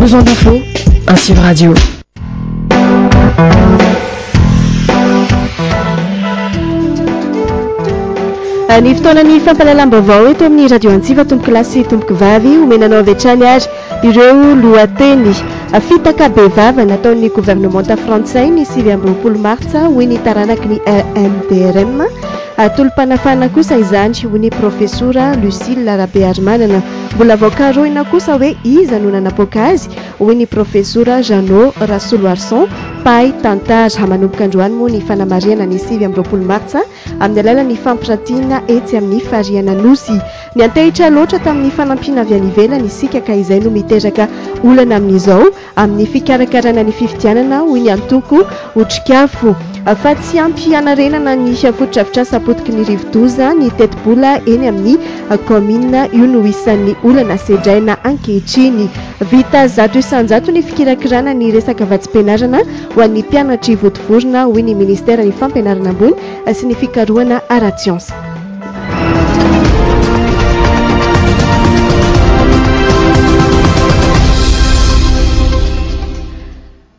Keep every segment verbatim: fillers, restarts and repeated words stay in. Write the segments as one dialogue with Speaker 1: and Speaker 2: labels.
Speaker 1: Besoin d'infos, Antsiva Radio.
Speaker 2: Ny fotoanan'ny fampahalalam-baovao eto amin'ny Radio Antsiva, tompoko lahy sy tompoko vavy, omena anao avy hatrany ary ireo lohateny. Fitaka bevava nataon'ny governemanta frantsay ny sivy amby roapolo martsa, hoy ny taranaky ny M D R M. Tolo-panafahana kosa izany, hoy ny profesora Lucille Rabearimanana. Mbola voakarohina kosa hoe iza no nanapoaka azy, hoy ny profesora Jeannot Rasoloarison, mpahay tantara. Manomboka androany moa ny fanamarihana ny sivy amby roapolo martsa amin'ny alalan'ny fampiratiana etsy amin'ny fariana Nosy. Niantehitra loatra tamin'ny fanampiana avy any ivelany isika ka izay no miteraka olana amin'izao amin'ny fikarakarana ny fifidianana, hoy ny antoko Otrikafo. Fa tsy ampy hanarenana ny fotodrafitrasa potiky ny rivodoza ny tetibola eny amin'ny kaominina. Io no isan'ny olana sedraina ankehitriny. Vita zato isan-jato ny fikirakirana ny resaka vatsim-pianarana ho an'ny mpianatry Vontovorona, hoy ny ministeran'ny fampianarana ambony sy ny fikarohana ara-tsiansa.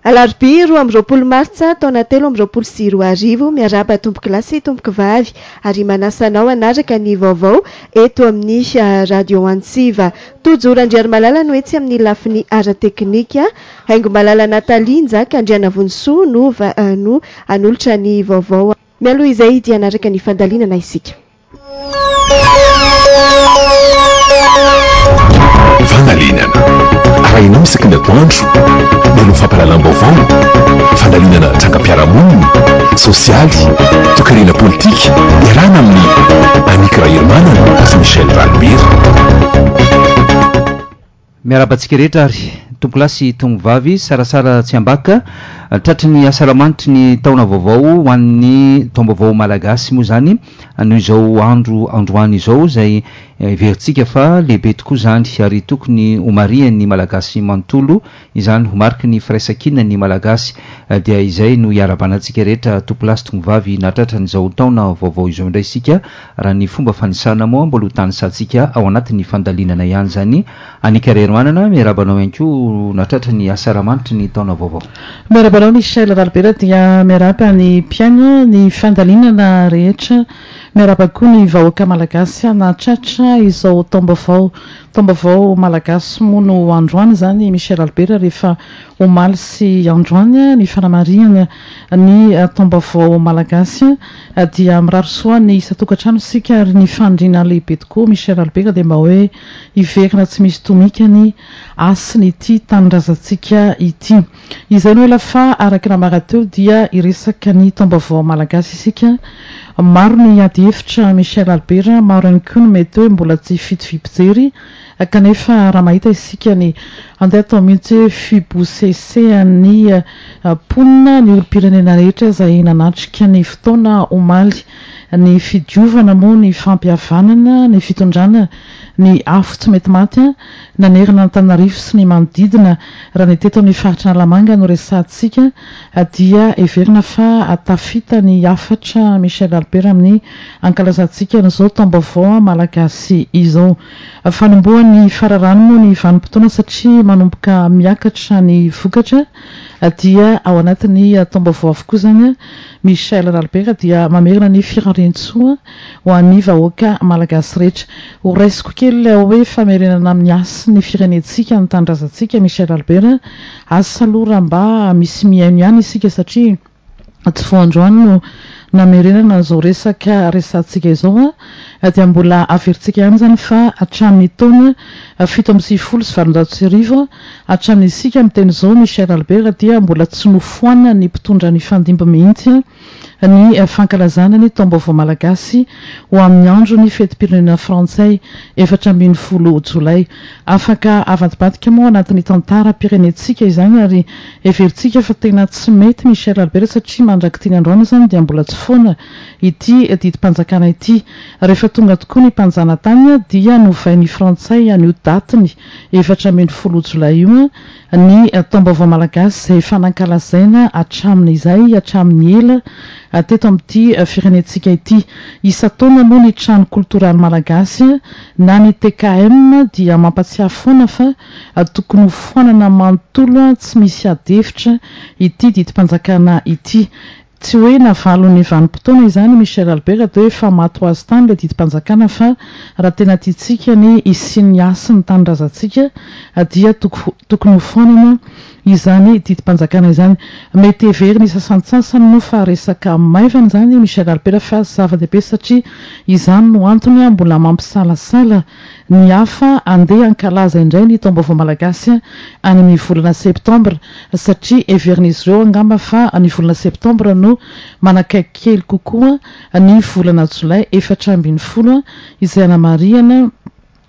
Speaker 2: Alarobia roa amby roapolo martsa taona telo amby roapolo sy roa arivo, miarahaba tompoko lahy sy tompoko vavy ary manasa anao hanaraka ny vaovao eto amin'ny Radio Antsiva. Tojo Randriarimalala no etsy amin'ny lafiny ara-teknika, Haingo Malala Nathalie Njaka Andrianavonisoa no va-, no hanolotra ny vaovao. Mialoha izay dia hanaraka ny fandalinana isika.
Speaker 3: Fandalinana. Arahinao isaky ny atoandro, mialoha fampahalalam-baovao, fandalinana trangam-piarahamonina, sosialy, toekarena politika, iarahana amin'ny Annick Raherimanana sy Michel Ralibera.
Speaker 4: Miarahaba antsika rehetra ary tompoko lahy sy tompoko vavy, sarasara tsy ambaka, tratry ny asaramanitry ny taona vaovao ho an'ny taom-baovao malagasy moa izany noho izao andro androany izao izay heverintsika fa lehibe tokoa izany ary tokony ho marihan'ny malagasy manontolo izany, ho mariky ny firaisankina ny malagasy, dia izay no iarahabana antsika rehetra tompoko lahy sy tompoko vavy nahatratra an'izao taona vaovao izao indray isika. Raha ny fomba fanisana moa mbola ho tanisantsika ao anatin'ny fandalinana ihany izany. Annick Raherimanana, miarahaba anao ihany koa nahatratra ny asaramanitry ny taona vaovao.
Speaker 5: Miarahaba anao Michel Ralibera, dia miarahaba ny mpihaino ny fandalinana rehetra, miarahaba koa ny vahoaka malagasy nahatratra izao taom-baovao. Taom-baovao malagasy moa no androany izany Michel Ralibera, rehefa omaly sy androany ny fanamarihana ny taom-baovao malagasy dia mirary soa ny isan-tokantrano isika ary ny faniriana lehibe tokoa Michel Ralibera dia mba hoe hiverina tsy misy tomika ny hasiny ity tanindrazantsika ity. Izay no ela fa araka ny namara teo dia hiresaka ny taom-baovao malagasy isika. Maro ny ady hevitra Michel Ralibera, maro ihany koa no mety hoe mbola tsy fitoviam-pijery, kanefa raha mahita isika ny andeha atao mihitsy hoe fibosesehan'ny mponina ny olom-pirenena rehetra izay nanatrika ny fotoana omaly, ny fidiovana moa, ny fampihavanana, ny fitondrana ny afo tsy mety maty nanerana Antananarivo sy ny manodidina. Raha ny teto amin'ny faritra Analamanga no resahantsika dia heverina fa tafita ny hafatra Michel Ralibera amin'ny ankalazantsika an'izao taom-baovao malagasy izao. Fanombohan'ny fararano moa ny vanim-potoana satria manomboka miakatra ny vokatra dia ao anatin'ny taom-baovao avokoa izany Michel Ralibera dia mamerina ny firariantsoa ho an'ny vahoaka malagasy rehetra. Ho raisiko kely ilay hoe famerenana amin'ny hasin'ny firenentsika ny tanindrazantsika Michel Ralibera, asa aloha raha mba misy mihaino ihany isika satria tsy vao androany no namerenana an'izao resaka resahantsika izao a, dia mbola averintsika ihany izany fa hatramin'ny taona fito amby sivifolo sy valonjato sy arivo hatramin'ny isika miteny izao Michel Ralibera dia mbola tsy nofoanana ny mpitondra ny fandimby mihitsy ny fankalazana ny taom-baovao malagasy ho amin'ny andro ny fetim-pirenena frantsay efatra ambin'ny folo jolay. Afaka avadibadika moa anatin'ny tantaram-pirenentsika izany ary heverintsika fa tena tsy mety Michel Ralibera satria mandrak'ity ny androany izany dia mbola tsy foana ity didim-panjakana ity. Rehefa tonga tokoa ny mpanjanatany dia novain'ny frantsay an'io datiny efatra ambin'ny folo jolay io ny taom-baovao malagasy izay efa nankalazaina hatramin'izay, hatramin'ny ela teto amin'ity firenentsika ity. Isan-taona moa ny trano koltoraly malagasy na ny T K M dia mampatsiahy foana fa tokony ho foanana manontolo tsy misy adihevitra ity didim-panjakana ity. Tsy hoe navalon'ny vanim-potoana izany Michel Albert dia hoe efa maty ho azy tany ilay didim-panjakana, fa raha tena tiantsika ny hisian'ny hasin'ny tanindrazantsika dia tokony ho foanana izany didim-panjakana izany. Mety heveriny sasantsasany moa fa resaka maivana izany Michel Albert, fa zava-dehibe satria izany no antony mbola mampisalasala ny hafa andeha hankalaza indray ny taom-baovao malagasy any amin'ny volana septambra, satria heverin'izy ireo angamba fa ny volana septambra no manakaiky kely kokoa ny volana jolay efatra ambin'ny folo izay anamarihana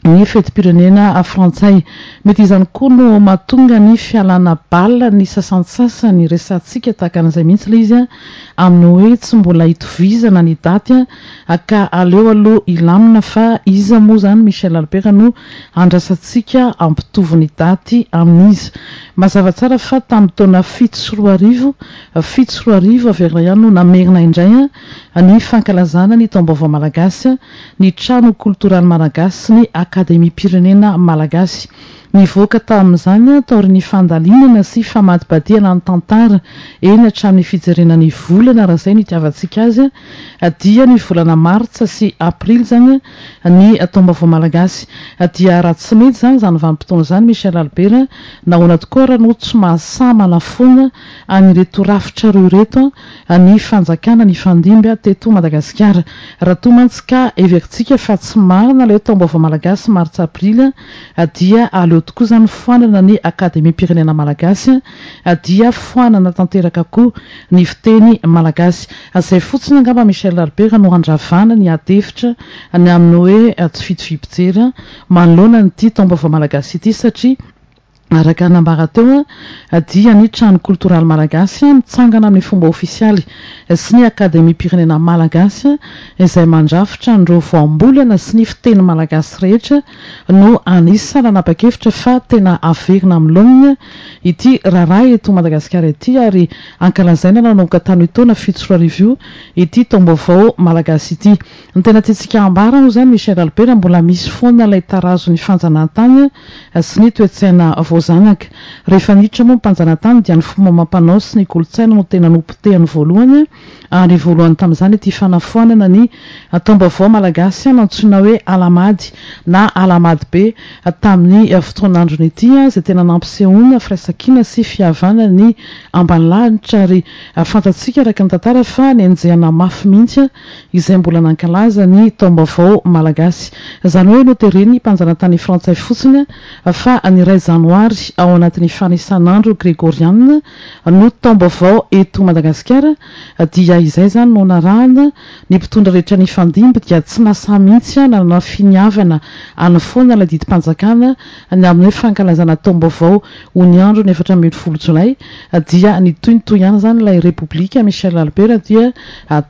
Speaker 5: ny fetim-pirenena frantsay. Mety izany koa no mahatonga ny fialana bala ny sasantsasany resahantsika tahaka an'izay mihitsy ilay izy amin'ny hoe tsy mbola hitovizana ny daty ka aleo aloha hilamina, fa iza moa izany Michel Albert no andrasantsika hampitovy ny daty amin'izy. Mazava tsara fa tamin'ny taona fito sy roa arivo, fito sy roa arivo averina ihany no namerina indray ny fankalazana ny taom-baovao malagasy, ny trano koltoraly malagasy sy ny akademiam-pirenena malagasy. Nivoaka tamin'izany taorian'ny fandalinana sy famadibadihana ny tantara eny hatramin'ny fijerena ny volana raha izay no itiavantsika azy, dia ny volana martsa sy aprily izany ny taom-baovao malagasy. Dia raha tsy mety izany izany vanim-potoana izany Michel Albert, nahoana tokoa raha no tsy mahasahy manafoana an'ireto rafitra roa ireto ny fanjakana ny fandimby teto Madagasikara. Raha toa mantsy ka heverintsika fa tsy marina ilay taom-baovao malagasy martsa aprily, dia aleo tokoa izany foanana ny akademiam-pirenena malagasy, dia foanana tanteraka koa ny fiteny malagasy. Izay fotsiny angamba Michel Albert no handravana ny adihevitra ny amin'ny hoe tsy fitoviam-pijery manoloana an'ity taom-baovao malagasy ity, satria araka nambara teo dia ny trano koltoraly malagasy mitsangana amin'ny fomba ofisialy sy ny akademiam-pirenena malagasy izay mandrafitra an'ireo voambolana sy ny fiteny malagasy rehetra no anisan'ny nanapa-kevitra fa tena averina amin'ny laoniny ity raharaha eto Madagasikara ity, ary ankalazaina nanomboka tamin'ny taona fito sy roa arivo io ity taom-baovao malagasy ity. Ny tena tiantsika ambara moa izany Michel Albert, mbola misy foana ilay tarazon'ny fanjanahantany sy ny toe-tsaina voazanaka. Rehefa niditra moa ny mpanjanahantany dia ny fomba amam-panao sy ny kolontsaina no tena nopotehany voalohany, ary voalohany tamin'izany ity fanafoanana ny taom-baovao malagasy nantsoina hoe Alamady na Alamady be tamin'ny fotoan'androny ity, izay tena nampisehoana firaisankina sy fihavanana ny ambanilanitra. Ary fantatsika araka ny tantara fa nenjehana mafy mihitsy izay mbola nankalaza ny taom-baovao malagasy. Izany hoe noteren'ny mpanjanatany frantsay fotsiny fa ny iray janoary ao anatin'ny fanisan'andro gregoriana no taom-baovao eto Madagasikara, dia izay izany no narahana ny mpitondra rehetra ny fandimby dia tsy nasahy mihitsy nanana finiavana hanafoana ilay didim-panjakana ny amin'ny hoe fankalazana taom-baovao ho ny andro ny efatra ambin'ny folo jolay, dia nitohintohy ihany izany ilay Repoblika Michel Albert. Dia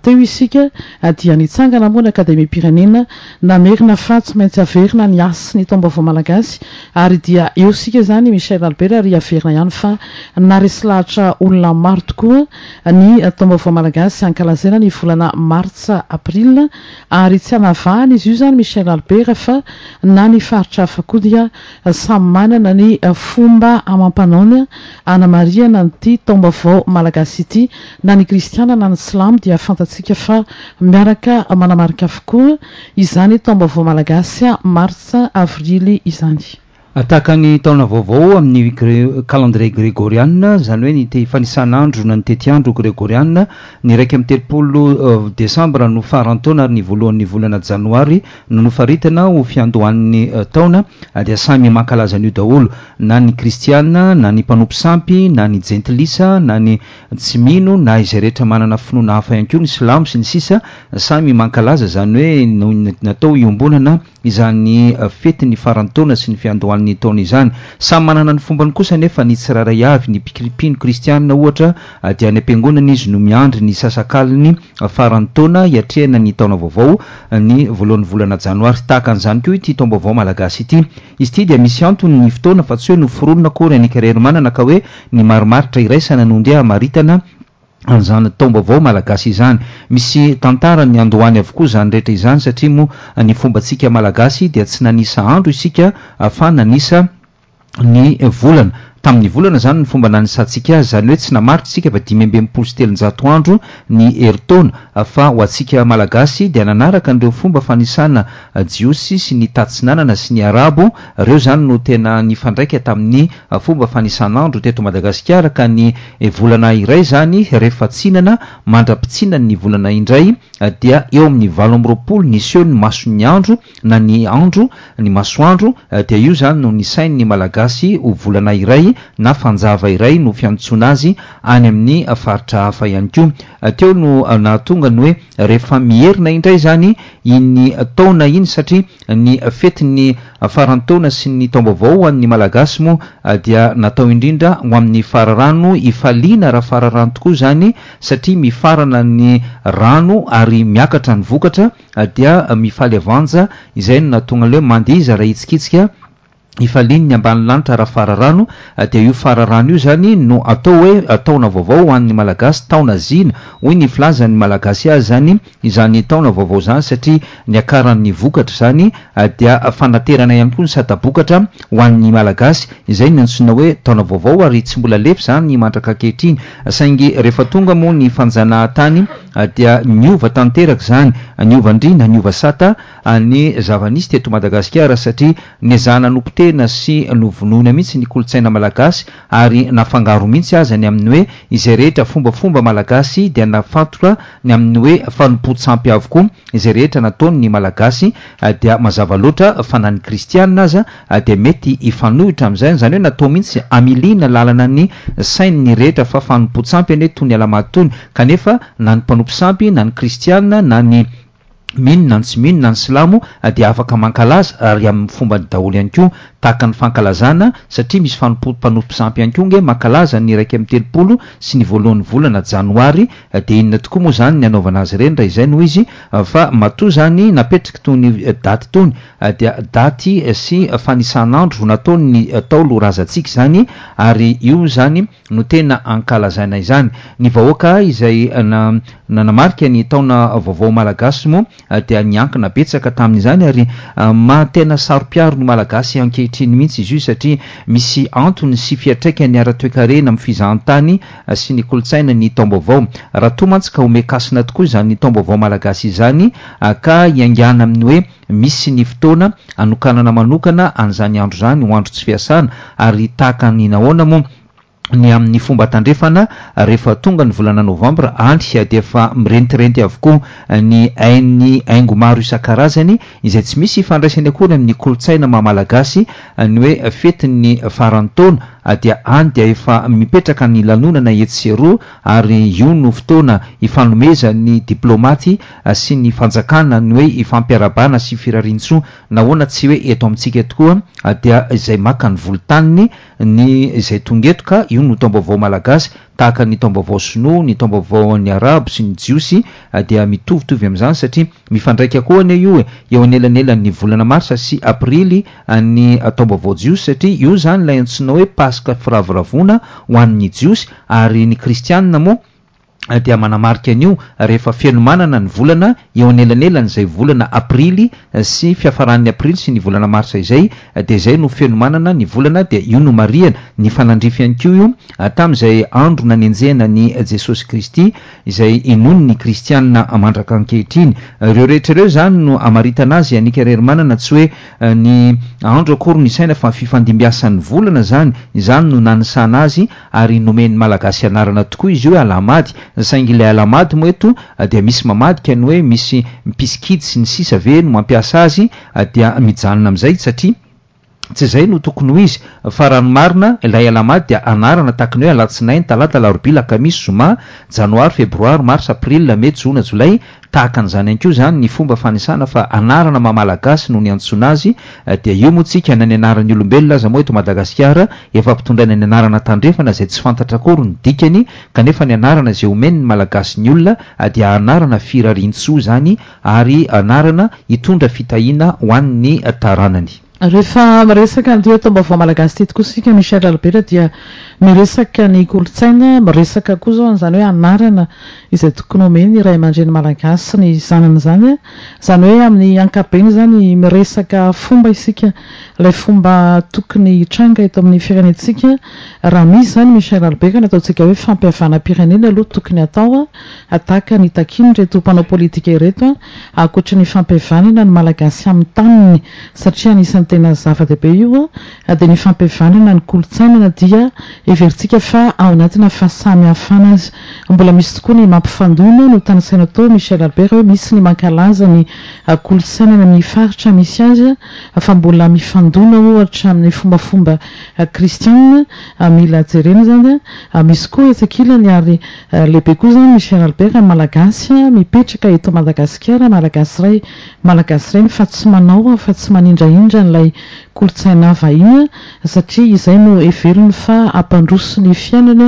Speaker 5: teo isika dia nitsangana moa ny akademiam-pirenena namerina fa tsy maintsy averina ny hasin'ny taom-baovao malagasy, ary dia eo isika izany Michel Albert, ary averina ihany fa naresy lahatra olona maro tokoa ny taom-baovao malagasy ankalazaina ny volana martsa april, ary tsy hanavahana izy io izany Michel Albert fa na ny faritra hafa koa dia samy manana ny fomba amam-panaony anamarihana an'ity taom-baovao malagasy ity. Na ny kristiana na ny silamo dia fantatsika fa miaraka manamarika avokoa izany taom-baovao malagasy martsa avrily izany.
Speaker 4: Tahaka ny taona vaovao amin'ny calendrier gregoriana, izany hoe ny te fanisan'andro na ny tetiandro gregoriana, ny iraika amby telopolo desambra no faran-taona ary ny voalohan'ny volana janoary no nofaritana ho fiandohan'ny taona, dia samy mankalaza an'io daholo, na ny kristiana, na ny mpanompo sampy, na ny jentilisa, na ny tsy mino, na izay rehetra manana finoana hafa ihany koa, ny silamo sy ny sisa, samy mankalaza izany hoe natao iombonana izany fetin'ny faran-taona sy ny fiandohan'ny taona izany. Samy manana ny fombany kosa nefa ny tsirairay avy. Ny mpino kristianina ohatra dia any am-piangonana izy no miandry ny sasakaliny faran-taona hiatrehana ny taona vaovao ny voalohan'ny volana janoary. Tahaka an'izany koa ity taom-baovao malagasy ity. Izy ity dia misy antony ny fotoana fa tsy hoe noforonina akory any Ankareromanana ka hoe ny marimaritra iraisana no ndeha hamaritana an'izany taom-baovao malagasy izany. Misy tantara ny andohany avokoa izany rehetra izany, satria moa ny fombantsika malagasy dia tsy nanisa andro isika fa nanisa ny volana. Tamin'ny volana izany ny fomba nanisantsika azy, izany hoe tsy namaritra isika fa dimy amby enimpolo sy telonjato andro ny herintaona, fa ho antsika malagasy dia nanaraka an'ireo fomba fanisana jiosy sy ny tatsinanana sy ny arabo. Ireo izany no tena nifandraika tamin'ny fomba fanisan'andro teto Madagasikara, ka ny volana iray izany rehefa tsinana mandra-pitsinan'ny volana indray dia eo amin'ny valo amby roapolo niseho ny mason'ny andro na ny andro ny masoandro, dia io izany no nisain'ny malagasy ho volana iray na fanjava iray no fiantsoana azy any amin'ny faritra hafa ihany koa. Teo no nahatonga ny hoe rehefa miherina indray izany iny taona iny, satria ny fetin'ny farantaona sy ny taom-baovao ho an'ny malagasy moa dia natao indrindra ho amin'ny fararano ifaliana raha fararano tokoa izany, satria mifarana ny rano ary miakatra ny vokatra dia mifaly avanja. Izay no nahatonga ilay hoe mandiza raha hitsikitsika ifaliany ny ambany lanitra raha fararano, dia io fararano io izany no atao hoe taona vaovao ho an'ny malagasy, taona zina hoy ny filazan'ny malagasy azy izany, izany taona vaovao izany, satria niakaran'ny vokatra izany dia fanaterana ihany koa ny sata-bokatra ho an'ny malagasy, izay no antsoina hoe taona vaovao, ary tsy mbola lefy izany mandraka ankehitriny. Saingy rehefa tonga moa ny fanjanahantany dia niova tanteraka izany, niova andriana, niova sata ny zava-nisy teto Madagasikara, satria nezahana nopotehina sy novonoina mihitsy ny kolontsaina malagasy, ary nafangaro mihitsy aza ny amin'ny hoe izay rehetra fombafomba malagasy dia nafantoka ny amin'ny hoe fanompoan-tsampy avokoa izay rehetra nataon'ny malagasy, dia mazava loatra fa na ny kristianina aza dia mety hifanohitra amin'izay, izany hoe natao mihitsy hamiliana lalana ny sain'ny rehetra fa fanompoan-tsampy anie toy ny alahady tony, kanefa na ny mpanompo sampy na ny kristianina na ny mino na ny tsy mino na ny silamo dia afaka mankalaza ary amin'ny fomba daholo ihany koa, tahaka ny fankalazana, satria misy fanompo-, mpanompo sampy ihany koa nge mankalaza ny iraika amby telopolo sy ny voalohan'ny volana janoary, dia inona tokoa moa izany ny anaovana azy ireny raha izay no izy, fa matoa izany napetraka tony daty tony dia daty sy fanisan'andro nataon'ny Ntaolo razantsika izany, ary io izany no tena ankalazaina izany. Ny vahoaka izay na-, nanamarika ny taona vaovao malagasy moa dia niankina betsaka tamin'izany, ary maha-tena saro-piaro ny malagasy ankehitriny mihitsy izy io, satria misy antony sy fiantraikany ara-toekarena amin'ny fizahantany sy ny kolontsaina ny taom-baovao. Raha toa mantsy ka omekasina tokoa izany taom-baovao malagasy izany ka hiaingàna amin'ny hoe misy ny fotoana anokanana manokana an'izany andro izany ho andro tsy fiasana, ary tahaka ny nahoana moa ny amin'ny fomba tandrefana rehefa tonga ny volana novambra any dia efa mirentirenty avokoa ny hain'ny haingo maro isan-karazany izay tsy misy ifandraisany akory amin'ny kolontsaina maha malagasy ny hoe fetin'ny faran'ny taona, dia any dia efa mipetraka ny lanonana etsy sy eroa, ary io no fotoana ifanomezan'ny diplomaty sy ny fanjakana ny hoe ifampiarabana sy firariantsoa. Nahoana tsy hoe eto amintsika tokoa dia izay maka ny volontaniny ny izay tonga eto, ka io no taom-baovao malagasy, tahaka ny taom-baovao sinoa, ny taom-baovao ny arabo sy ny jiosy dia mitovitovy amin'izany, satria mifandraika koa anie io e, eo anelanelan'ny volana marsa sy aprily ny taom-baovao jiosy, satria io izany ilay antsoina hoe paska firavoravoana ho an'ny jiosy, ary ny kristianina moa dia manamarika an'io rehefa fenomanana ny volana eo anelanelan'izay volana aprily sy fiafaran'ny aprily sy ny volana marsa izay, dia izay no fenomanana ny volana, dia io no marihana ny fanandrify ihany koa io tamin'izay andro nanenjehana ny Jesosy Kristy izay inoan'ny kristianina mandraka ankehitriny. Ireo rehetra ireo izany no amaritana azy Annick Hermanana, tsy hoe ny andro akory ny saina fa fifandimbiasan'ny volana izany, izany no nanisana azy, ary nomen'ny malagasy anarana tokoa izy io hoe alahamady, saingy ilay alahamady moa eto dia misy mamadika ny hoe misy mpisikity sy ny sisa ve no mampiasa azy, dia mijanona amin'izay satria tsy izay no tokony ho izy, fa raha ny marina ilay alahamady dia anarana tahaka ny hoe alatsinainy, talata, alarobia, alakamisy, zoma, janoary, febroary, marsa, aprily, mey, jona, jolay, tahaka an'izany ihany koa izany ny fomba fanisana fa anarana maha malagasy no niantsoana azy, dia io moa tsika na ny anaran'ny olombelona aza moa eto Madagasikara efa ampitondraina ny anarana tandrefana izay tsy fantatra akory ny dikany, kanefa ny anarana izay omeny ny malagasy ny olona dia anarana firariantsoa izany, ary anarana hitondra fitahiana ho an'ny taranany.
Speaker 5: Rehefa miresaka an'ity taom-baovao malagasy ity tokoa isika, Michel Albert, dia miresaka ny kolontsaina, miresaka koa izao an'izany hoe anarana izay tokony omeny ray aman-dreny malagasy ny zanany izany. Izany hoe amin'ny ankapobeny izany miresaka fomba isika, ilay fomba tokony hitranga eto amin'ny firenentsika. Raha misy izany, Michel Albert, ny ataontsika hoe fampihavanam-pirenena aloha tokony atao, tahaka ny takian'ireto mpanao politika ireto, ankoatra ny fampihavanana ny malagasy amin'ny taniny, satria anisan'ny tena zava-dehibe io, dia ny fampihavanana ny kolontsaina dia heverintsika fa ao anatina fahasamihafana azy. Mbola misy tokoa ny mampifandona no tanisaina tao, Michel Albert, hoe misy ny mankalaza ny kolontsaina amin'ny faritra misy azy, fa mbola mifandona ohatra amin'ny fombafomba kristianina, mila jerena izany. Misy koa etsy ankilany ary lehibe koa izany, Michel Albert, malagasy mipetraka eto Madagasikara, malagasy ray, malagasy reny, fa tsy manao, fa tsy manindrahindra an'ilay kolontsaina vahiny, satria izay no heveriny fa hampandroso ny fiainana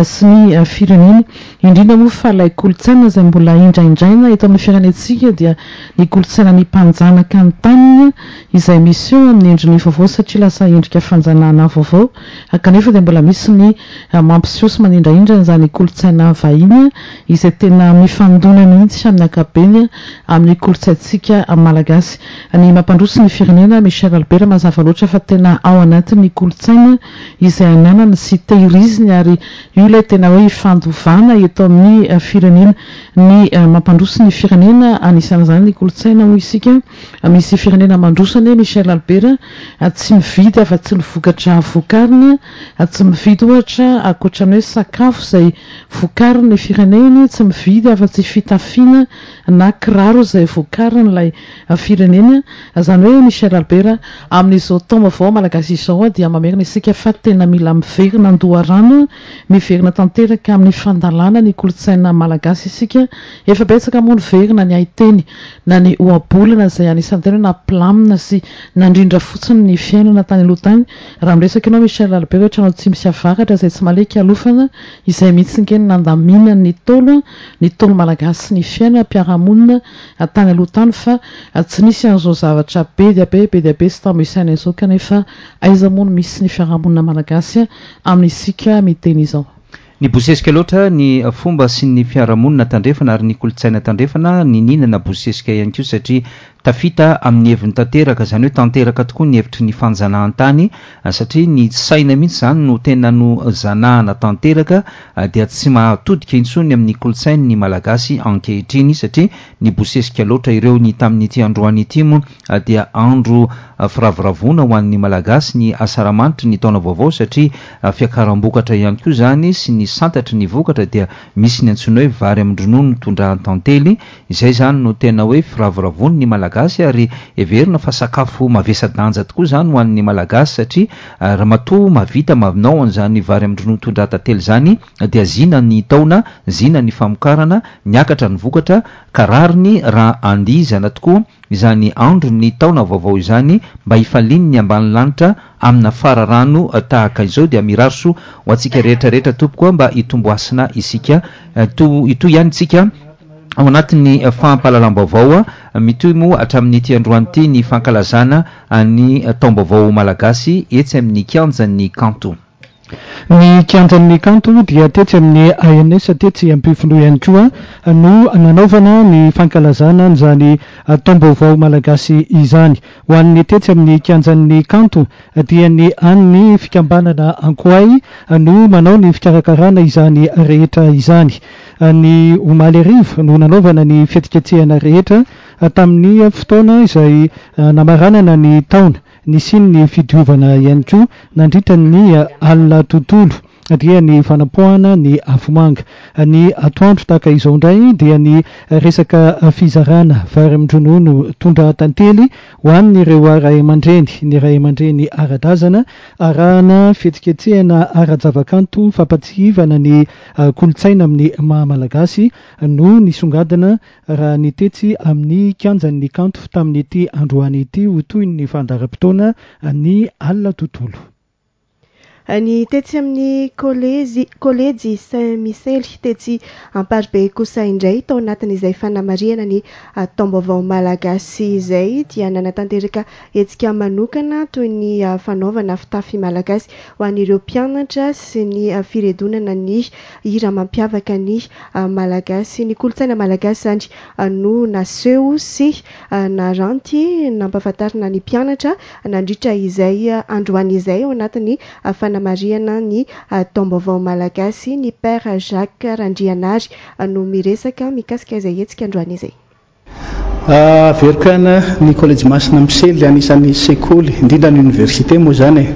Speaker 5: sy ny firenena. Indrindra moa fa ilay kolontsaina izay mbola indraindraina eto amin'ny firenentsika dia ny kolontsaina ny mpanjanaka ny taniny izay miseho amin'ny endriny vaovao, satria lasa endrika fanjanahana vaovao, kanefa dia mbola misy ny mampiseho sy manindrahindra izany kolontsaina vahiny izay tena mifandona mihitsy amin'ny ankapobeny amin'ny kolontsaintsika malagasy. Ny mampandroso ny firenena, Michel Albert, mazava loatra fa tena ao anatin'ny kolontsaina izay ananany sy tehiriziny, ary io ilay tena hoe ifandovana eto amin'ny firenena. Ny mampandroso ny firenena anisan'izany ny kolontsaina, hoy isika. Misy firenena mandroso anie, Michel Albert, tsy mividy afa-tsy ny vokatra vokariny, tsy mividy ohatra ankoatra ny hoe sakafo izay vokarin'ny fireneny, tsy mividy afa-tsy fitafiana na kiraro izay vokarin'ilay firenena. Izany hoe, Michel Albert, amin'izao taom-baovao malagasy izao dia mamerina isika fa tena mila miverina an-doharano, miverina tanteraka amin'ny fandalana ny kolontsaina malagasy isika. Efa betsaka moa ny verina ny haiteny na ny ohabolana izay anisan'ny tena nampilamina sy nandrindra fotsiny ny fiainana tany aloha tany. Raha miresaka ianao, Michel Albert, hoe trano tsy misy avaratra izay tsy maleky alofana, izay mihitsy ny nandamina ny taolo, ny taolo malagasy ny fiainam-piarahamonina tany aloha tany, fa tsy nisy an'izao zavatra be dia be, be dia be sy tambo isaina izao, kanefa aiza moa no misy ny fiarahamonina malagasy amin'isika miteny izao.
Speaker 4: Nibosesika loatra ny fomba sy ny fiarahamonina tandrefana ary ny kolontsaina tandrefana, nininana bosesika ihany koa, satria tafita amin'ny heviny tanteraka, izany hoe tanteraka tokoa ny hevitry ny fanjanahantany, satria ny saina mihitsy izany no tena no zanahana tanteraka, dia tsy mahatodika intsony amin'ny kolontsainy ny malagasy ankehitriny, satria nibosesika loatra ireo. Ny tamin'ity androany ity moa dia andro firavoravoana ho an'ny malagasy ny asaramanitry ny taona vaovao, satria fiakaram-bokatra ihany koa izany sy ny santatry ny vokatra, dia misy ny antsoina hoe vary amin-dronono tondrahan-tantely. Izay izany no tena hoe firavoravoany ny malagasy, ary heverina fa sakafo mavesa-danja tokoa izany ho an'ny malagasy, satria raha matoa mahavita manao an'izany vary amin-dronono tondrahan-tantely izany dia zina ny taona, zina ny famokarana, niakatra ny vokatra, ka rariny raha andihizana tokoa izany andro ny taona vaovao izany mba hifaliany ny ambany lanitra amina fararano tahaka izao. Dia mirary soa ho antsika rehetra rehetra tompoko mba hitombo hasina isika. Hitohy ihany isika ao anatin'ny fampahalalam-baovao. Mitohy moa hatramin'ity androany ity ny fankalazana ny taom-baovao malagasy etsy amin'ny kianjan'ny kanto.
Speaker 6: Ny kianjan'ny kanto dia tetsy amin'ny A N S tetsy Ampefiloha ihany koa no nanaovana ny fankalazana an'izany taom-baovao malagasy izany. Ho an'ny tetsy amin'ny kianjan'ny kanto dia ny an'ny fikambanana Ankoay no manao ny fikarakarana izany rehetra izany. Ny omaly hariva no nanaovana ny fihetsiketsehana rehetra tamin'ny fotoana izay namaranana ny taona. Nisian'ny fidiovana ihany koa nandritra ny alina tontolo dia ny fanapoahana ny afomanga. Ny atoandro tahaka izao indray dia ny resaka fizarana vary amin-dronono tondra-tantely ho an'ireo ray aman-dreny, ny ray aman-dreny ara-drazana, arahana fihetsiketsehana ara-javakanto fampatsiahivana ny kolontsaina amin'ny maha malagasy no nisongadina raha ny tetsy amin'ny kianjan'ny kanto tamin'ity androany ity ho toy ny fandaharam-potoana ny alina tontolo.
Speaker 2: Ny tetsy amin'ny kolejy kolejy Saint Michel tetsy Amparibe kosa indray, tao anatin'izay fanamarihana ny taom-baovao malagasy izay, dia nanatanteraka hetsika manokana toy ny fanaovana fitafy malagasy ho an'ireo mpianatra sy ny firedonana ny hira mampiavaka ny malagasy. Ny kolontsaina malagasy izany no naseho sy naranty nampahafantarina ny mpianatra nandritra izay androany izay ao anatin'ny fanamarihana ny taom-baovao malagasy. Ny Père Jacques Randrianary no miresaka mikasika izay hetsika androany izay.
Speaker 7: Averiko ihany, ny Kolejy Masina Misely anisan'ny sekoly, indrindra ny université moa zany e,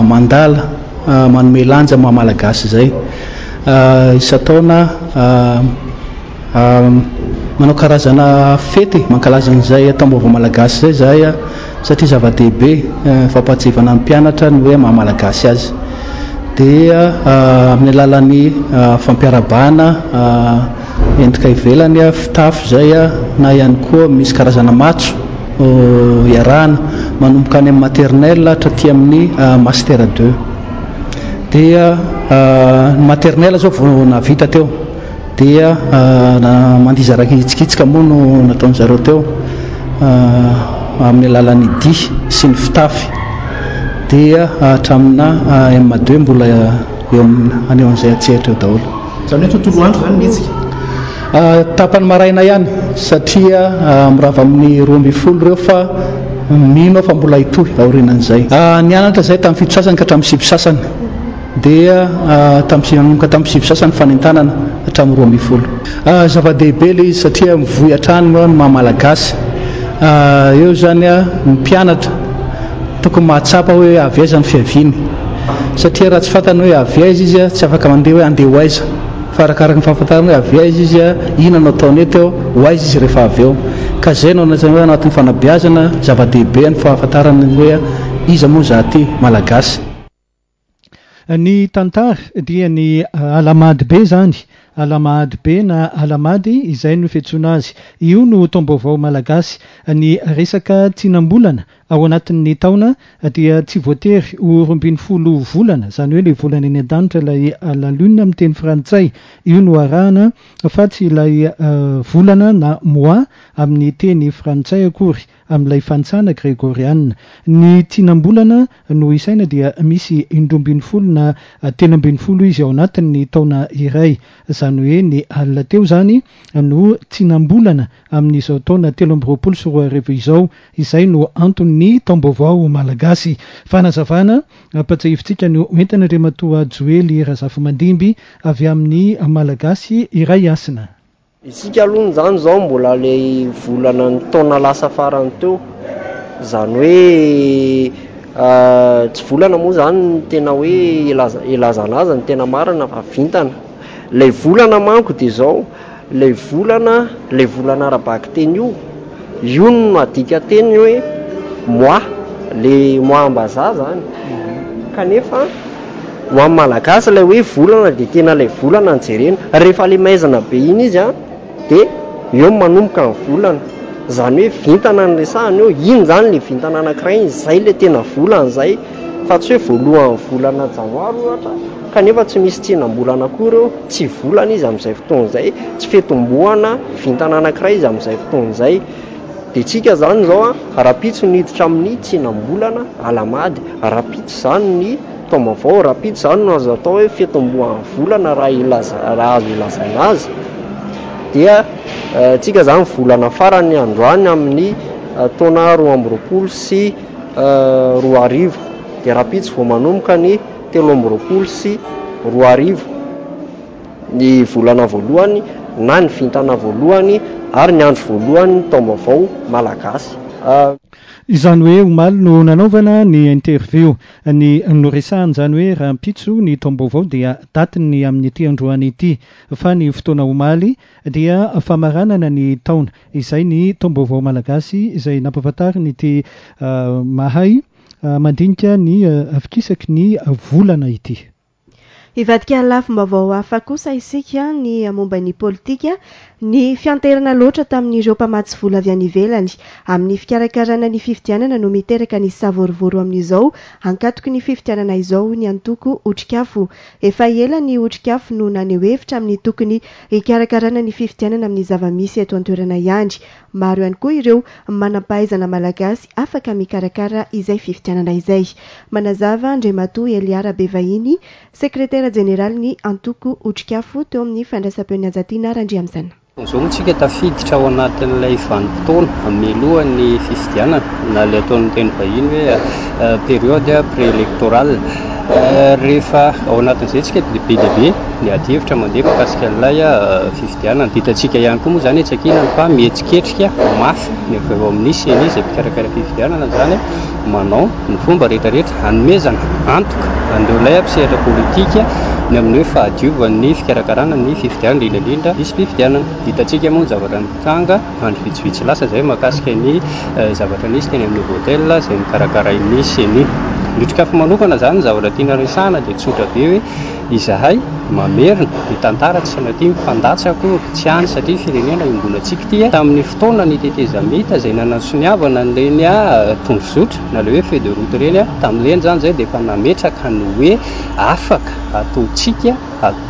Speaker 7: mandala manome lanja maha malagasy izay. Isan-taona manao karazana fety mankalaza an'izay taom-baovao malagasy izay zahay, satria zava-dehibe fampahatsiahivana ny mpianatra ny hoe maha malagasy azy. Dia amin'ny alalan'ny fampiarabana endrika ivelany, fitafy zay, na ihany koa misy karazana matso iarahana manomboka any amin'ny maternelle hatraty amin'ny master deux. Dia ny maternelle zao vao navita teo, dia mandiza raiky hitsikitsika moa no nataony zareo teo amin'ny alalan'ny dihy sy ny fitafy. Dia hatramina M deux mbola eo aneo an'izay atsehatra eo daholo.
Speaker 8: Zany hoe tontolo andro zany mihetsika?
Speaker 7: Tapany maraina ihany, satria mirava amin'ny roa ambin'ny folo ireo, fa mino aho fa mbola hitohy aorianan'izay. Nianatra zay tamin'ny fito sasany ka hatramin'ny sivy sasany, dia tamin'ny nanomboka tamin'ny sivy sasany fanentanana hatramin'ny roa ambin'ny folo. Zava-dehibe ilay izy satria mivoy hatrany ny maha malagasy. Eo zany ny mpianatra tokony mahatsapa hoe avy aiza ny fiaviany, satria raha tsy fantany hoe avy aiza izy, tsy afaka mandeha hoe andeha ho aiza, fa arakaraka ny fahafantarana hoe avy aiza izy, inona no ataony eto eo, ho aiza izy rehefa avy eo. Ka zay no anatin'ny hoe anatin'ny fanabeazana zava-dehibe ny fahafantarana ny hoe iza moa za ty malagasy.
Speaker 6: Ny tantara dia ny Alahamady be zany, Alahamady be na Alahamady izay no fiantsoana azy. Io no taom-baovao malagasy. Ny resaka tsinam-bolana ao anatin'ny taona dia tsy voatery ho roa ambin'ny folo volana, izany hoe ilay volana eny an-danitra, ilay la lune amin'ny teny frantsay, io no arahana fa tsy ilay volana na mois amin'ny teny frantsay akory amin'ilay fantsana gregoriana. Ny tsinam-bolana no isaina dia misy indroa ambin'ny folo na telo ambin'ny folo izy ao anatin'ny taona iray, izany hoe ny alina teo zany no tsinam-bolana amin'izao taona telo amby roapolo sy roa arivo izao, izay no anton'ny taom-baovao malagasy. Fanazavana ampatsiahivintsika no entina Andriamatoa Joely Razafimandimby avy amin'ny Malagasy iray hasina.
Speaker 9: Isika aloha zany zao mbola le volana ny taona lasa farany teo, zany hoe tsy volana moa zany ny tena hoe ilazana azy ny tena marina fa vintana. Ilay volana manko dia zao, ilay volana, ilay volana ara-bakiteny io, io no adika teny hoe mois, le mois ambazaha zany. Kanefa ho an'ny malagasy ilay hoe volana dia tena ilay volana no jerena. Rehefa ilay maizina be iny izy a, dia eo manomboka ny volana, zany hoe vintana ny resahana eo, iny zany le vintana anankiray iny, zay le tena volana zay, fa tsy hoe voalohan'ny volana janoary ohatra, kanefa tsy misy tsinam-bolana akory eo, tsy volana izy amin'izay fotoana izay, tsy fitomboana vintana anankiray izy amin'izay fotoana izay. Dia tsika zany zao a, rahampitso niditra amin'ny tsinam-bolana Alahamady, rahampitso zany ny taom-baovao, rahampitso zany no azo atao hoe fitomboan'ny volana raha ilaza, raha azo ilazana azy. Dia tsika zany volana farany androany amin'ny taona roa amby roapolo sy roa arivo, dia rahampitso vao manomboka ny telo amby roapolo sy roa arivo, ny volana voalohany na ny vintana voalohany ary ny andro voalohany ny taom-baovao malagasy.
Speaker 6: Izany hoe omaly no nanaovana ny interview, ny noresahana izany hoe rahampitso ny taom-baovao dia datiny amin'ity androany ity, fa ny fotoana omaly dia famaranana ny taona, izay ny taom-baovao malagasy izay nampahafantariny ity mahay mandinika ny fikisaky ny volana ity.
Speaker 2: Hivadika lafim-baovao hafa kosa isika ny momba ny politika, ny fianterana loatra tamin'ireo mpamatsy vola avy any ivelany amin'ny fikarakarana ny fifidianana no miteraka ny savorovoro amin'izao ankatoky ny fifidianana izao ny antoko Otrikafo. Efa ela ny Otrikafo no naneho hevitra amin'ny tokony hikarakarana ny fifidianana amin'ny zava-misy eto an-toerana ihany. Maro ihany koa ireo manam-pahaizana malagasy afaka mikarakara izay fifidianana izay. Manazava Andriamatoa Elia Rabevahiny, sekretera jeneraly ny antoko Otrikafo teo amin'ny fandraisam-peon'i Anjatiana Randriamizana.
Speaker 10: Izao moa tsika tafiditra ao anatin'ilay vanim-potoana mialohan'ny fifidianana na ilay ataon'ny teny vahiny hoe période préélectorale. Rehefa ao anatin'izay tsika dia be dia be ny adihevitra mandeha mahakasika an'ilay fifidianana. Hitantsika ihany koa moa izany etsy ankilany fa mihetsiketsika mafy ny avy eo amin'ny CENI izay mpikarakara fifidianana izany manao ny fomba rehetrarehetra hanomezana antoka an'ireo ilay mpisehatra politika ny amin'ny hoe fahadiovan'ny fikarakarana ny fifidianana, indrindra indrindra lisi-pifidianana. Hitantsika moa ny zavatra nitranga andro vitsivitsy lasa izay mahakasika ny zavatra nisy teny amin'ny Novotel izay nikarakarain'ny CENI. Ny Otrikafo manokana izany ny zavatra tiana resahana dia tsotra be hoe izahay mamerina ny tantara tsy sanatria mifandatsa akory tsy any satria firenena iombonantsika ity tamin'ny fotoana ny tetezamita izay nanasoniavana an'ireny tondrozotra na ilay hoe feuille de route ireny tamin'ireny izany izay dia efa nametraka ny hoe afaka ataontsika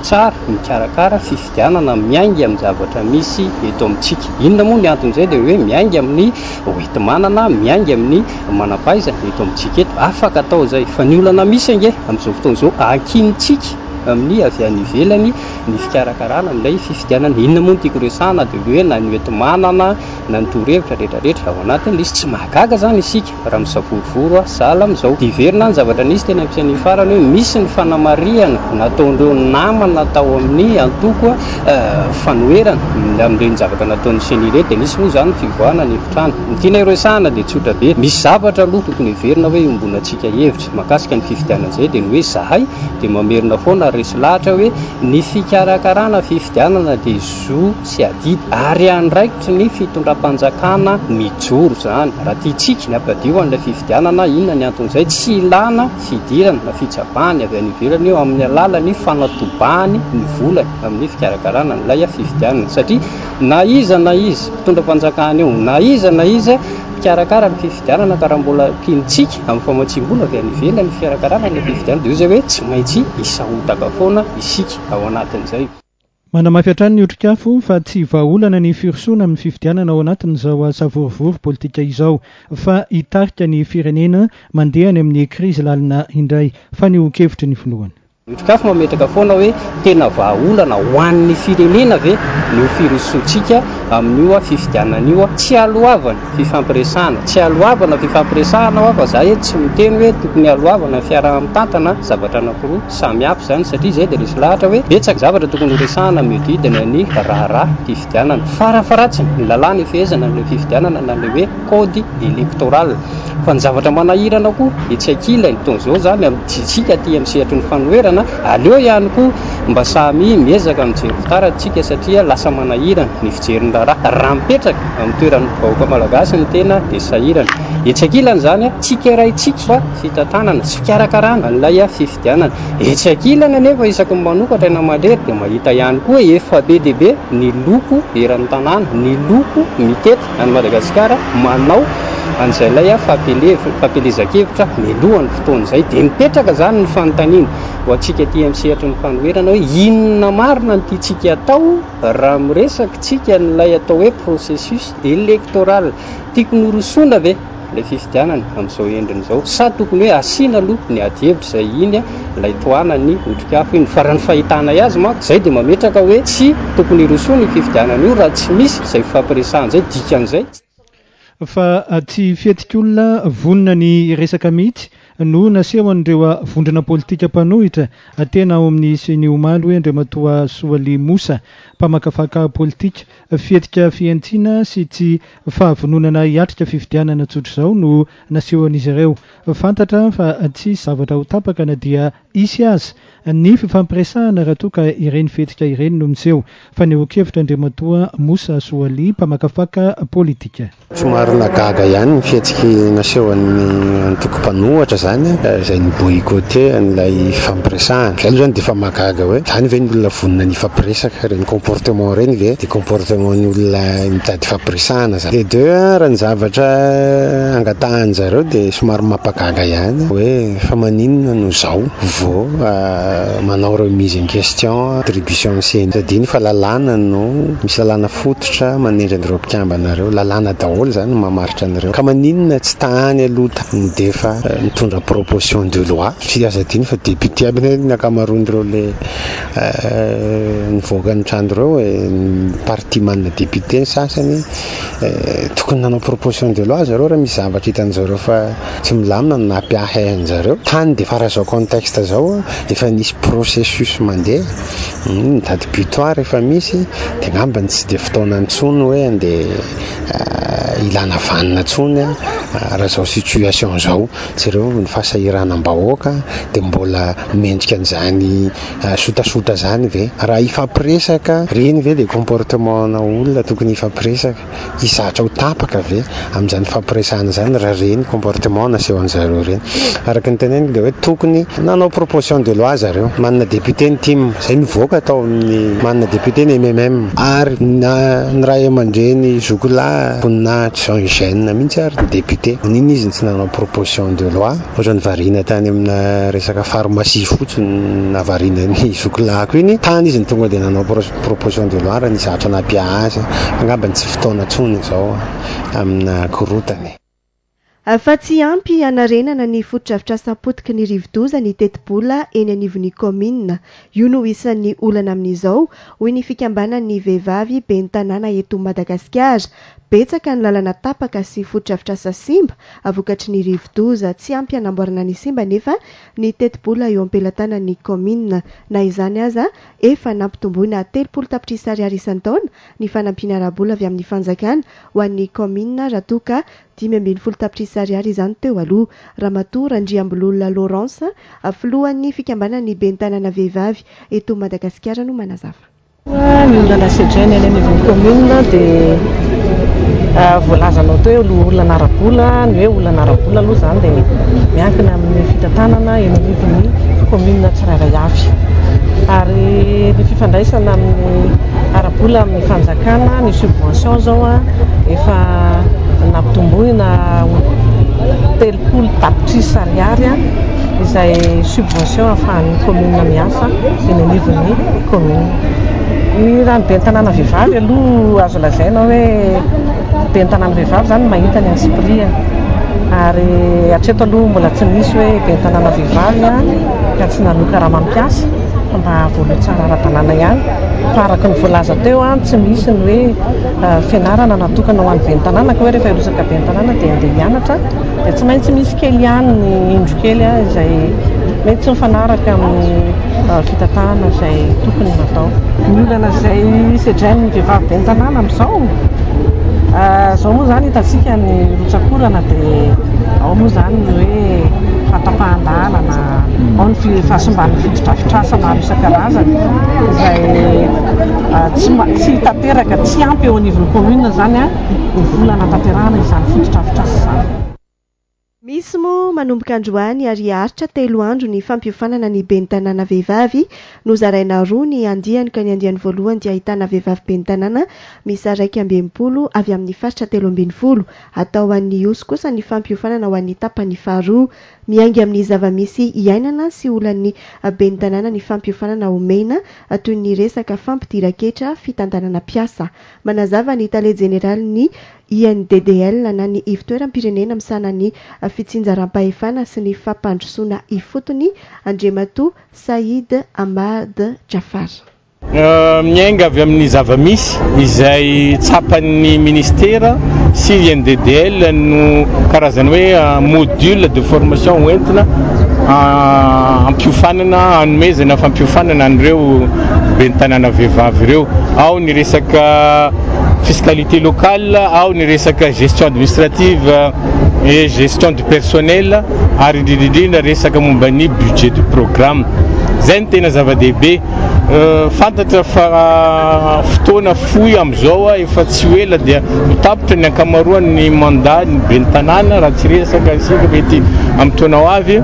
Speaker 10: tsara mikarakara fifidianana miainga amin'ny zavatra misy eto amintsika. Inona moa ny anton'izay dia hoe miainga amin'ny hoenti-manana, miainga amin'ny manam-pahaizana eto amintsika eto. Afaka atao izay fa ny olana misy ange amin'izao fotoana izao ankinintsika amin'ny avy any ivelany ny fikarakarana an'ilay fifidianana. Inona moa no tiako resahana dia hoe na ny hoenti-manana na ny torohevitra rehetrarehetra ao anatin'ilay izy. Tsy mahagaga izany isika raha misavorovoro sahala amin'izao. Hiverina ny zavatra nisy teny amin'ny CENI farany hoe misy ny fanamarihana nataon'ireo namana tao amin'ny antoko fanoherana amin'ireny zavatra nataon'ny CENI ireny dia nisy moa izany fivoahana ny efitrano. Ny tiana iresahana dia tsotra be. Misy zavatra aloha tokony heverina hoe iombonantsika hevitra mahakasika ny fifidianana izay dia ny hoe zahay dia mamerina foana resy lahatra hoe ny fikarakarana fifidianana dia zo sy adidy ary andraikitry ny fitondram-panjakana mijoro izany. Raha tiantsika ny hampadio an'ilay fifidianana, inona ny anton'izay? Tsy ilana fidirana na fitsabahany avy any ivelany io amin'ny alalan'ny fanatobahany ny volany amin'ny fikarakarana an'ilay fifidianana satria na iza na iza mpitondram-panjakana io na iza na iza mpikarakara ny fifidianana ka raha mbola tiantsika amin'ny famatsiam-bola avy any ivelany ny fikarakarana ny fifidianana dia io izay hoe tsy maintsy hisahotaka foana isika ao anatin'izay.
Speaker 6: Manamafy hatrany ny Otrikafo fa tsy vahaolana ny firosoana amin'ny fifidianana ao anatin'izao savorovoro politika izao fa hitarika ny firenena mandeha any amin'ny krizy lalina indray. Fanehoan-kevitry ny filohany.
Speaker 10: Ny Otrikafo mametraka foana hoe tena vahaolana ho an'ny firenena ve ny firosoantsika amin'io fifidianana io. Tsy aloavana fifampiresahana, tsy aloavana fifampiresahana fa zahay tsy miteny hoe tokony aloavana fiaraha-mitantana zavatra anankiroa samy hafa izany satria izay dia resy lahatra hoe betsaka zavatra tokony horesahana mihodidina ny raharaha fifidianana. Farafaharatsiny ny lalàna ifehezana ny fifidianana na ilay hoe code électoral. Fa ny zavatra manahirana koa etsy ankilany toy izao izany amintsika aty amin'ny sehatry ny fanoherana, aleo ihany koa mba samy miezaka mijery fitaratra satria lasa manahirana ny fijerin'ny raharaha. Raha mipetraka amin'ny toeran'ny vahoaka malagasy ny tena dia sahirana. Etsy ankilany izany tsikeraintsika fa fitantanana sy fikarakarana an'ilay fifidianana. Etsy ankilany anefa isaky ny manokatra na mandrery dia mahita ihany koa efa be dia be ny loko eran'ny tanàna, ny loko mitety an'i Madagasikara manao an'izay ilay fampielezan-kevitra mialohan'ny fotoana izay. Dia mipetraka izany ny fanontaniana ho antsika aty amin'ny sehatry ny fanoherana hoe inona marina no tiantsika atao raha miresaka tsika an'ilay atao hoe processus électoral. Tiako norosoana ve ilay fifidianana amin'izao endriny izao sa tokony hoe asiana aloha ny adihevitra izay iny ilay tohanan'ny Otrikafo iny? Fa raha ny fahitanay azy manko izay dia mametraka hoe tsy tokony hirosoana io fifidianana io raha tsy misy izay fifampiresahana izay. Dikan'izay
Speaker 6: fa tsy fihetsik'olona vonona ny resaka mihitsy no nasehon'ireo vondrona politika mpanohitra tena ao amin'ny CENI omaly hoe Andriamatoa Soaly Mosa mpamakafaka politika. Fihetsika fihantsiana sy tsy fahavononana hiatrika fifidianana tsotra izao no nasehon'izy ireo. Fantatra fa tsy hisy zavatra ho tapaka na dia hisy aza ny fifampiresahana raha toa ka ireny fihetsika ireny no miseho. Fanehoan-kevitra Andriamatoa Moussa Soali, mpamakafaka politika.
Speaker 11: Somary nahagaga ihany ny fihetsiky nasehon'ny antoko mpanohitra izany, izay ni-boycotter an'ilay fifampiresahana. Izay aloha izany dia efa mahagaga hoe izany ve ny olona vonona ny hifampiresaka? Ireny comportement ireny ve dia comportement ny olona mitady hifampiresahana izany? De deux, raha ny zavatra angatahan-dry zareo dia somary mampagaga ihany hoe fa maninona no izao vao manao remise en question attribution ny C E N I. Tadino fa lalàna no misy lalàna fototra manendry an'ireo mpikambana ireo, lalàna daholo izany no mamaritra an'ireo. Ka maninona tsy tany aloha tany dia efa nitondra proposition de loi? Tsy azo adino fa député aby ny ankamaroan'ireo le nivoaka ny trano ireo, parti manana député ny sasany, tokony nanao proposition de loi zareo raha misy zavatra hitan'zareo fa tsy milamina no nampiahy an'zareo. Tany dia efa raha izao contexte izao efa nisy processus mandeha, ny date butoir efa misy, dia angamba tsy dia fotoana intsony hoe andeha ilana vanona intsony raha izao situation izao. Jereo ny fahasahiranam-bahoaka dia mbola mendrika an'izany sotasota izany ve? Raha hifampiresaka ireny ve dia comportement na olona tokony hifampiresaka? Hizatra ho tapaka ve amin'izany fampiresahana izany raha ireny comportement nasehon'zareo ireny? Araka ny teneniko dia hoe tokony nanao proposition de loi zareo. Manana député ny T I M, izay nivoaka tao amin'ny manana député ny M M M, ary na ny ray aman-dreny zokolahy voninahitra Jean Eugène mihitsy ary ny député. Nino izy tsy nanao proposition de loi? Ohatran'ny variana tany amina resaka pharmacie fotsiny navarina ny zokolahiko iny. Tany izy ny tonga dia nanao proposition de loi raha nisy zavatra nampiahy azy. Angamba tsy fotoana intsony izao amina korotany.
Speaker 2: Fa tsy ampy hanarenana ny fotodrafitrasa potiky ny rivodoza ny tetibola eny anivon'ny kaominina. Io no isan'ny olana amin'izao, hoy ny fikambanan'ny vehivavy ben'ny tanàna eto Madagasikara. Betsaka ny lalana tapaka sy fotodrafitrasa simba vokatry ny rivodoza. Tsy ampy hanamboarana ny simba nefa ny tetibola eo am-pelatanan'ny kaominina. Na izany aza, efa nampitomboina telopolo tapitrisa ariary isan-taona ny fanampiana ara-bola avy amin'ny fanjakana ho an'ny kaominina raha toa ka dimy ambin'ny folo tapitrisa ariary izany teo aloha. Ramatoa Randriambololona Laurence, filohan'ny fikambanan'ny ben'ny tanàna vehivavy eto Madagasikara no manazava.
Speaker 12: Ny olana sedraina eny anivon'ny kaominina dia voalazanao teo hoe olana ara-bola. Ny hoe olana ara-bola aloha izany dia miankina amin'ny fitantanana eny anivon'ny kaominina tsirairay avy. Ary ny fifandraisana amin'ny ara-bola amin'ny fanjakana, ny subvention izao efa nampitomboina telopolo tapitrisa ariary izay subvention ahafahan'ny kaominina miasa eny anivon'ny kaominina. Ny raha ny ben'ny tanàna vehivavy aloha azo lazaina hoe ben'ny tanàna vehivavy izany mahita ny antsipiriany. Ary hatreto aloha mbola tsy nisy hoe ben'ny tanàna vehivavy ka tsy naloa karama mpiasa fa mba voaloa tsara ara-dalàna ihany. Fa araka ny voalaza teo, tsy misy ny hoe fianarana natokana ho an'ny ben'ny tanàna ka hoe rehefa hirotsaka ben'ny tanàna dia andeha hianatra dia tsy maintsy misy kely ihany ny indro kely izay mety tsy mifanaraka amin'ny fitantanana izay tokony natao. Ny olana izay sedrain'ny vehivavy ben'ny tanàna amin'izao, izao moa izany hitantsika ny rotsakorana dia ao moa izany ny hoe fahatapahan-dalana, ao ny fahasimban'ny fotodrafitrasa maro isan-karazany izay tsy tsy tanteraka, tsy ampy eo anivon'ny commune izany ny vola hanatanterahana izany fotodrafitrasa izany.
Speaker 2: Misy moa manomboka androany ary haharitra telo andro ny fampiofanana ny ben'ny tanàna vehivavy. Nozaraina roa ny andiany ka ny andiany voalohany dia ahitana vehivavy ben'ny tanàna miisa iraika amby enimpolo avy amin'ny faritra telo ambin'ny folo. Atao an'ny Ihosy kosa ny fampiofanana ho an'ny tapany faharoa. Miainga amin'ny zava-misy iainana sy olan'ny ben'ny tanàna ny fampiofanana omena toy ny resaka fampidiran-ketra fitantanana mpiasa. Manazava ny tale jeneralin'ny I N D D L na ny ivontoeram-pirenena misahana ny fitsinjaram-pahefana sy ny fampandrosoana ifotony, Andriamatoa Saïd Ahmad Jafar.
Speaker 13: Miainga avy amin'ny zava-misy izay tsapan'ny ministera sy I N D D L no karazany hoe module de formation hoentina ampiofanana, hanomezana fampiofanana an'ireo ben'ny tanàna vehivavy ireo. Ao ny resaka fiscalité locale, ao ny resaka gestion administrative et gestion du personnel, ary indrindra indrindra resaka momba ny budget du programme. Zay ny tena zava-dehibe. Fantatra fa fotoana fohy am'izao a, efa tsy ho ela dia mitapitra ny ankamaroany mandat ny ben'ny tanàna, raha tsy resaka isika mety amin'ny taona ho avy.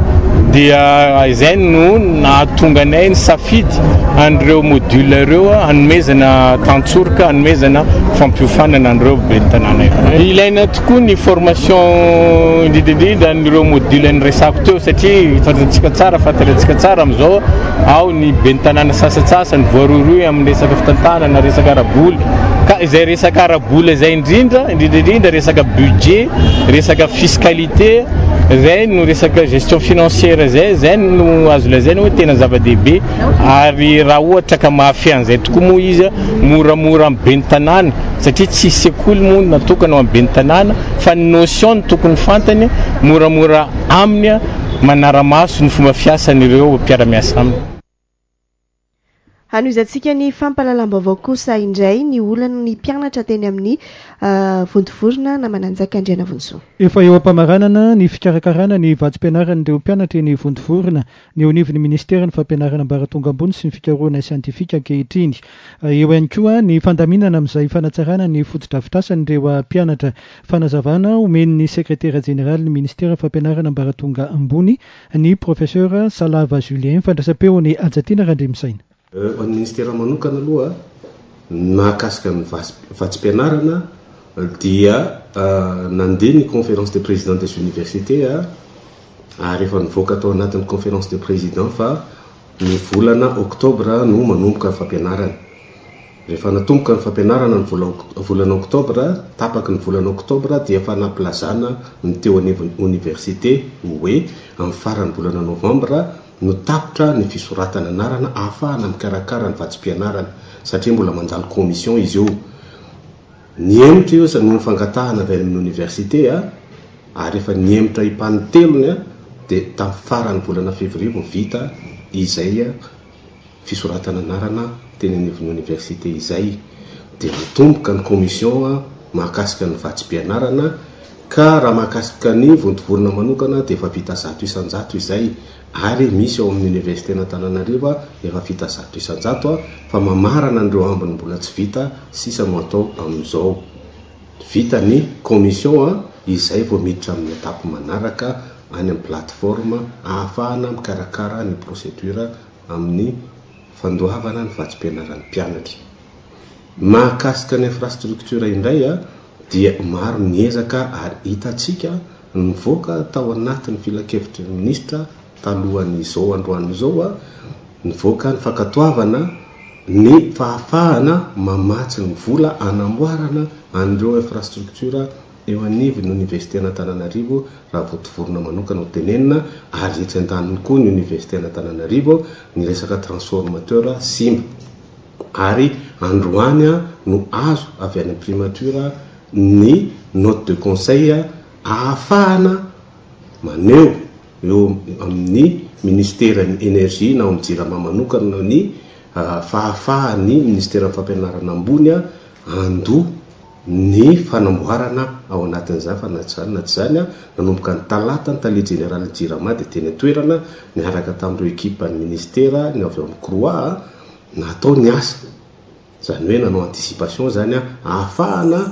Speaker 13: Dia izay no nahatonga anay ny safidy an'ireo module ireo, hanomezana tantsoroka, hanomezana fampiofanana an'ireo ben'ny tanàna ireo. Ilaina tokoa ny formation, indrindra indrindra an'ireo module ny resako teo, satria fantatsika tsara, fantatsika tsara am'izao ao ny ben'ny tanàna sasatsasany voarohirohy amin'ny resaka fitantanana, resaka ara-bola, ka izay resaka ara-bola izay indrindra indrindra indrindra resaka budget, resaka fiscalité, zay no resaka gestion financière, zay zay no azo lazaina hoe tena zava-dehibe. Ary raha ohatra ka mahafehy an'izay tokoa moa izy, moramora amin'ny ben'ny tanàna, satria tsy sekoly moa natokana ho amin'ny ben'ny tanàna fa ny notion ny tokony fantany, moramora aminy manara-maso ny fomba fiasan'ireo mpiara-miasa aminy.
Speaker 2: Hanohizantsika ny fampahalalam-baovao kosa indray ny olan'ny mpianatra teny amin'ny Vontovorona na Mananjaka Andriana Vonsoa.
Speaker 6: Efa eo am-pamaranana ny fikarakarana ny vatsim-pianaran'ireo mpianatra eny Vontovorona ny eo anivon'ny ministeran'ny fampianarana ambaratonga ambony sy ny fikarohana siantifika ankehitriny. Eo ihany koa ny fandaminana amin'izay fanatsarana ny fotodrafitrasan'ireo mpianatra. Fanazavana omen'ny sekretera jeneraly ny ministeran'ny fampianarana ambaratonga ambony, ny professeur Salava Julien, fandraisam-peon'ny Hajatiana Randriamisaina.
Speaker 14: Ho an'ny ministera manokana aloha, mahakasika ny vatsim-pianarana dia nandeha ny conférence des présidents des universités, ary efa nivoaka tao anatin'ny conférence des présidents fa ny volana oktobra no manomboka ny fampianarana. Rehefa natomboka ny fampianarana ny volana oktobra, tapaky ny volana oktobra, dia efa nampilazana ny teo anivon'ny université hoe amin'ny farany volana novambra no tapitra ny fisoratana anarana ahafahana mikarakara ny vatsim-pianarana, satria mbola mandalo commission izy io. Nihemotra io noho ny fangatahana avy amin'ny université, a ary efa nihemotra impanitelony, a dia tamin'ny farany volana février vao vita izay fisoratana anarana teny anivon'ny université izay. Dia natomboka ny commission mahakasika ny vatsim-pianarana, ka raha mahakasika ny Vontovorona manokana dia efa vita zato isan-jato izay, ary misy ao amin'ny université Antananarivo efa vita zato isan-jato, a fa mamarana an'ireo ambiny mbola tsy vita sisa no atao amin'izao. Vita ny commission, a izay vao miditra amin'ny étape manaraka any amin'ny plateforme ahafahana mikarakara ny procédure amin'ny fandoavana ny vatsim-pianaran'ny mpianatra. Mahakasika ny infrastructure indray, a dia maro ny ezaka, ary hitantsika nivoaka tao anatin'ny filankevitry ny ministra talohan'izao androany izao, a nivoaka ny fankatoavana ny fahafahana mamatsy ny vola anamboarana an'ireo infrastructure eo anivon'ny université Antananarivo, raha Vontovorona manokana ho tenenina, ary etsy an-daniny koa ny université Antananarivo, ny resaka transformateur simba. Ary androany a no azo avy any primature ny note de conseil ahafahana maneho eo amin'ny ministeran'ny énergie na amin'ny Jirama manokana ny fahafahany ministeran'ny fampianarana ambony a andoa ny fanamboarana ao anatin'izany. Fa na tsy zany na tsy zany, a nanomboka ny talata ny tale jeneraly Jirama dia teny an-toerana niaraka tamin'ireo ekipa ny ministera, ny avy eo amin'ny C R O A, natao ny asa, zany hoe nanao anticipation zany a ahafahana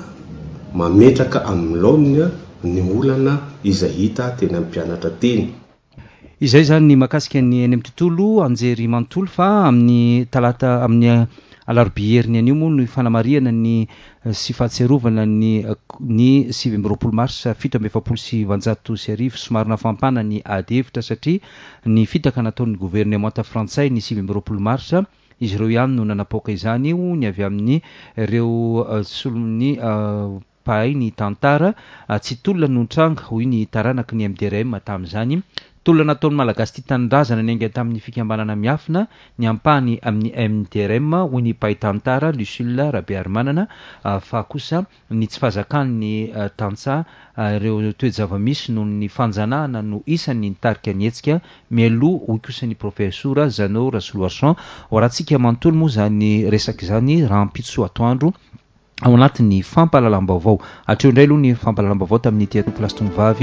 Speaker 14: mametraka amin'ny laoniny a ny olana izay hita teny amin'ny mpianatra teny.
Speaker 4: Izay zany ny mahakasika ny eny amin'ny tontolo anjery manontolo. Fa amin'ny talata, amin'ny alarobia heriny anio moa no fanamarihana ny sy fahatsiarovana ny ny sivy amby roapolo marsa fito amby efapolo sy valonjato sy arivo. Somary nafampana ny ady hevitra satria ny fitaka nataon'ny governemanta frantsay ny sivy amby roapolo marsa, izy ireo ihany no nanapoaka izany io, ny avy amin'ny ireo solon'ny mpahay ny tantara. Tsy tolona no nitranga, hoy ny taranaky ny M D R M tamin'izany. Tolona nataon'ny Malagasy tia tanindrazana ny ainga tamin'ny fikambanana miafina ny ampahany amin'ny M D R M, hoy ny mpahay tantara Lucile Rabearimanana, fa kosa ny tsy fahazakan'ny tantsaha ireo toe-java-misy noho ny fanjanahana no isan'ny nitarika ny hetsika mialoha, hoy kosa ny professeur Jeannot Rasoloarison. Ho arahantsika manontolo moa zany resaka izany rahampitso atoandro ao anatin'ny fampahalalam-baovao. Hatreo indray aloha ny fampahalalam-baovao tamin'ny ity tompokolahy sy tompokovavy.